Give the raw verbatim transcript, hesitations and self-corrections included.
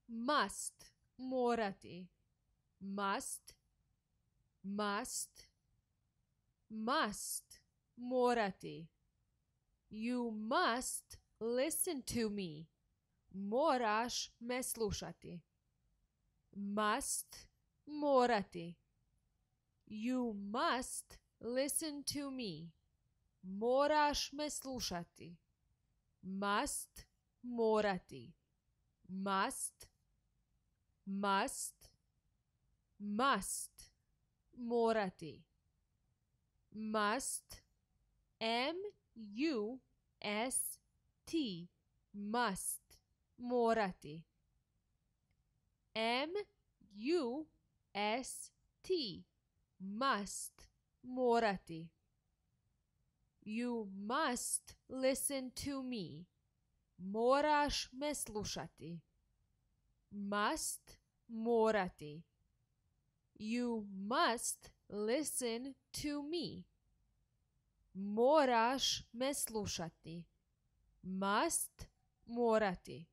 must, morati. Must, must, must, morati. You must listen to me. Moraš me slušati. Must, morati. You must listen to me. Moraš me slušati. Must, morati. Must, must, must, morati. Must, M U S T, must, morati. M U S T, must, morati. You must listen to me. Moraš me slušati. Must, morati. You must listen to me. Moraš me slušati. Must, morati.